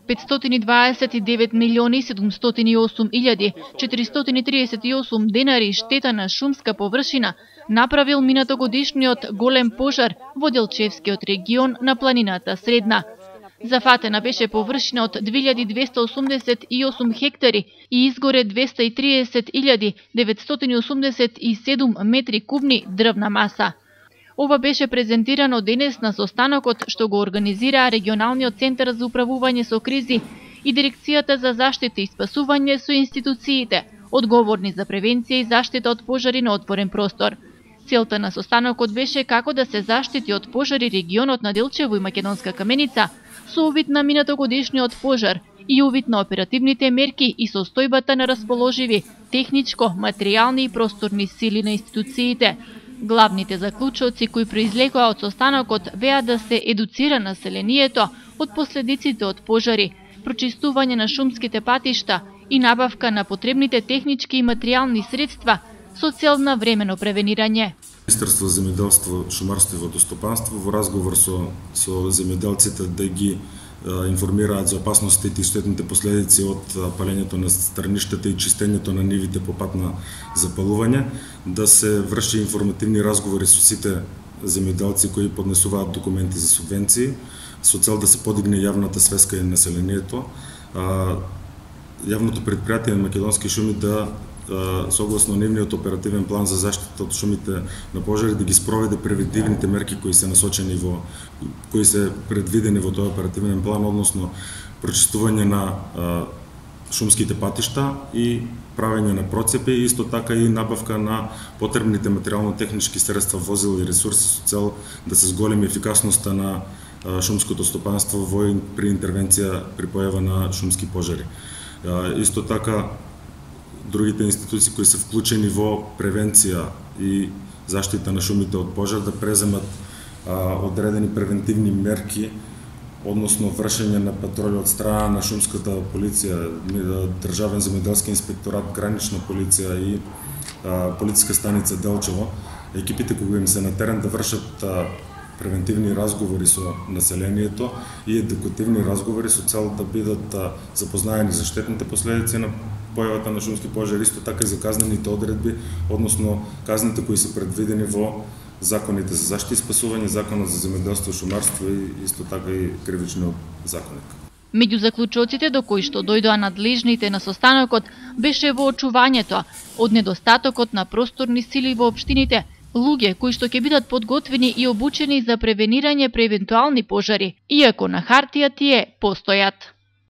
529.708.438 денари штета на шумска површина направил минатогодишниот голем пожар во Делчевскиот регион на планината Средна. Зафатена беше површина од 2288 хектари и изгоре 230.987 метри кубни дрвна маса. Ова беше презентирано денес на состанокот што го организира Регионалниот центар за управување со кризи и Дирекцијата за заштита и спасување со институциите, одговорни за превенција и заштита од пожари на отворен простор. Целта на состанокот беше како да се заштити од пожари регионот на Делчево и Македонска Каменица со увид на минатогодишниот пожар и увид на оперативните мерки и состојбата на расположиви техничко, материјални и просторни сили на институциите. Главните заклучоци кои произлегоа од состанокот беа да се едуцира населението од последиците од пожари, прочистување на шумските патишта и набавка на потребните технички и материјални средства со цел на времено превенирање. Министерство за земјоделство, шумарство и водостопанство во разговор со земјоделците да ги информираат за опасностите и штетните последици од палењето на страништата и чистењето на нивите по пат на запалување, да се врши информативни разговори со сите земјоделци кои поднесуваат документи за субвенции, со цел да се подигне јавната свеска и населението. Јавното предпријатие на Македонски шуми да согласно нивниот оперативен план за заштита од шумите на пожари да ги спроведе превентивните мерки кои се насочени кои се предвидени во тој оперативен план, односно прочистување на шумските патишта и правење на процепи, исто така и набавка на потребните материјално-технички средства, возила и ресурси со цел да се зголеми ефикасноста на шумското стопанство при интервенција при појава на шумски пожари. Исто така другите институции кои се вклучени во превенција и заштита на шумите од пожар да преземат одредени превентивни мерки, односно вршење на патроли од страна на шумската полиција, Државен земјоделски инспекторат, гранична полиција и полициска станица Делчево. Екипите кои им се на терен да вршат превентивни разговори со населението и едукативни разговори со цел да бидат запознаени за штетните последици на појавата на шумски пожари, исто така и за казнените одредби, односно казните кои се предвидени во законите за заштита и спасување, законот за земјоделство и шумарство и исто така и кривичниот законник. Меѓу заклучоците до кои што дојдоа надлежните на состанокот беше воочувањето од недостатокот на просторни сили во општините, луѓе кои што ќе бидат подготвени и обучени за превенирање при евентуални пожари, иако на хартија тие постојат.